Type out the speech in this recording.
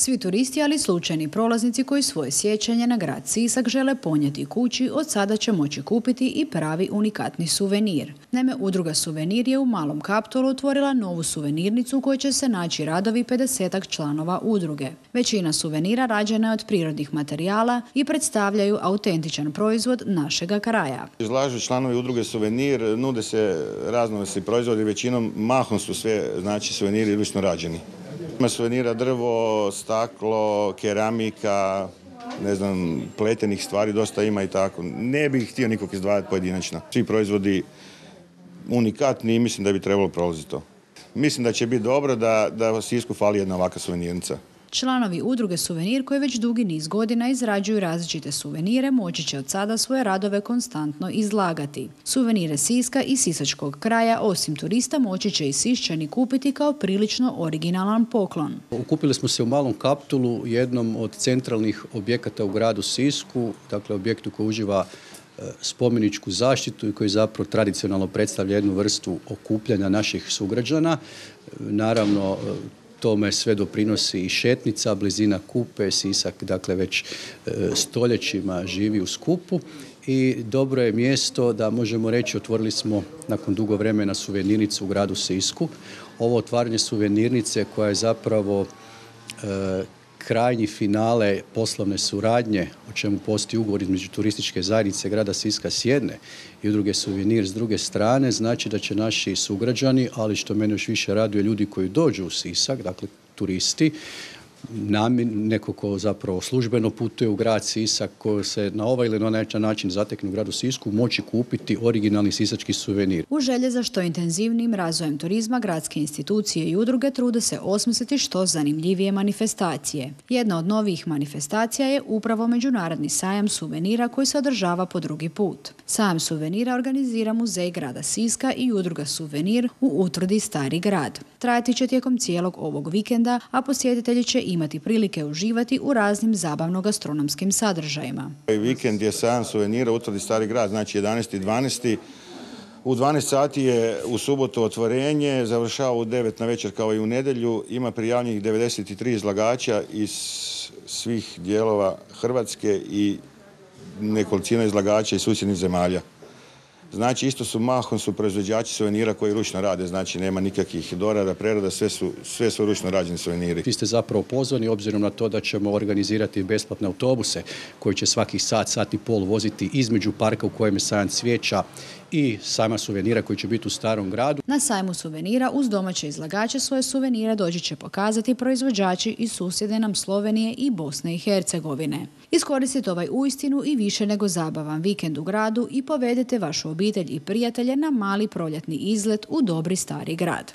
Svi turisti, ali i slučajni prolaznici koji svoje sjećanje na grad Sisak žele ponijeti kući, od sada će moći kupiti i pravi unikatni suvenir. Naime, udruga Suvenir je u Malom Kaptolu otvorila novu suvenirnicu u kojoj će se naći radovi 50-ak članova udruge. Većina suvenira rađena je od prirodnih materijala i predstavljaju autentičan proizvod našega kraja. Izlažu članovi udruge Suvenir, nude se raznovrsni proizvodi, većinom mahom su sve suveniri ručno rađeni. Ima suvenira drvo, staklo, keramika, pletenih stvari dosta ima i tako. Ne bih htio nikog izdvajati pojedinačno. Svi proizvodi unikatni i mislim da bi trebalo prolaziti to. Mislim da će biti dobro da u Sisku fali jedna ovakva suvenirnica. Članovi udruge Suvenir, koji već dugi niz godina izrađuju različite suvenire, moći će od sada svoje radove konstantno izlagati. Suvenire Siska i sisačkog kraja, osim turista, moći će i Siščani kupiti kao prilično originalan poklon. Okupili smo se u Malom Kaptolu, jednom od centralnih objekata u gradu Sisku, dakle objektu koji uživa spomeničku zaštitu i koji zapravo tradicionalno predstavlja jednu vrstu okupljanja naših sugrađana. Naravno, tome sve doprinosi i šetnica, blizina Kupe, Sisak, dakle već stoljećima živi u skupu i dobro je mjesto da možemo reći otvorili smo nakon dugo vremena suvenirnicu u gradu Sisku. Ovo otvaranje suvenirnice koja je zapravo krajnji finale poslovne suradnje, o čemu postoji ugovor između turističke zajednice grada Siska s jedne i udruge Suvenir s druge strane, znači da će naši sugrađani, ali što mene još više raduje, ljudi koji dođu u Sisak, dakle turisti, neko ko zapravo službeno putuje u grad Sisak, ko se na ovaj ili na onaj način zatekne u gradu Sisku, moći kupiti originalni sisački suvenir. U želje za što intenzivnim razvojem turizma, gradske institucije i udruge trude se osmisliti što zanimljivije manifestacije. Jedna od novih manifestacija je upravo Međunarodni sajam suvenira koji se održava po drugi put. Sajam suvenira organizira Muzej grada Siska i udruga Suvenir u utrudi Stari grad. Trajati će tijekom cijelog ovog vikenda, a posjetitelji će imati prilike uživati u raznim zabavno-gastronomskim sadržajima. Vikend je sajam suvenira u utrudi Stari grad, znači 11.12. U 12 sati je u subotu otvorenje, završava u 9 na večer kao i u nedjelju. Ima prijavljenih 93 izlagača iz svih dijelova Hrvatske i nekolicina izlagača iz susjednih zemalja. Znači, isto su mahom proizvođači suvenira koji ručno rade, znači nema nikakvih dorada, prerada, sve su ručno rađeni suveniri. Vi ste zapravo pozvani obzirom na to da ćemo organizirati besplatne autobuse koji će svakih sat i pol voziti između parka u kojem je sajam cvijeća i sajma suvenira koji će biti u Starom gradu. Na sajmu suvenira uz domaće izlagače svoje suvenire doći će pokazati proizvođači iz susjedne nam Slovenije i Bosne i Hercegovine. Iskoristite ovaj uistinu i više nego zabavan vikend u gradu i povedite vašu obitelj i prijatelje na mali proljetni izlet u dobri Stari grad.